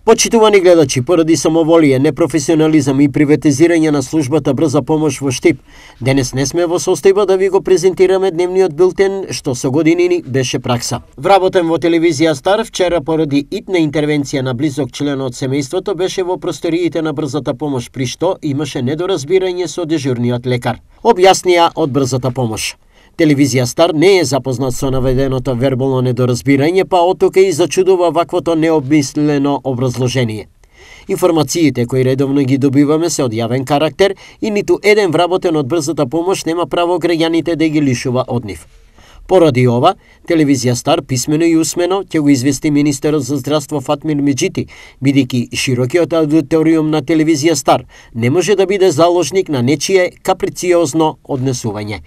Почитувани гледачи, поради самоволие, непрофесионализам и приватизирање на службата брза помош во Штип, денес не сме во состојба да ви го презентираме дневниот билтен, што со години беше пракса. Вработен во телевизија Стар, вчера поради итна интервенција на близок член од семејството беше во просториите на брзата помош, при што имаше недоразбирање со дежурниот лекар. Објаснија од брзата помош. Телевизија Стар не е запознат со наведеното вербално недоразбирање, па оттука и зачудува ваквото необмислено образложение. Информациите кои редовно ги добиваме се од јавен карактер и ниту еден вработен од брзата помош нема право граѓаните да ги лишува од нив. Поради ова, телевизија Стар писмено и усмено ќе го извести министерот за здравство Фатмир Меджити, бидејќи широкиот аудиториум на телевизија Стар не може да биде заложник на нечие каприциозно однесување.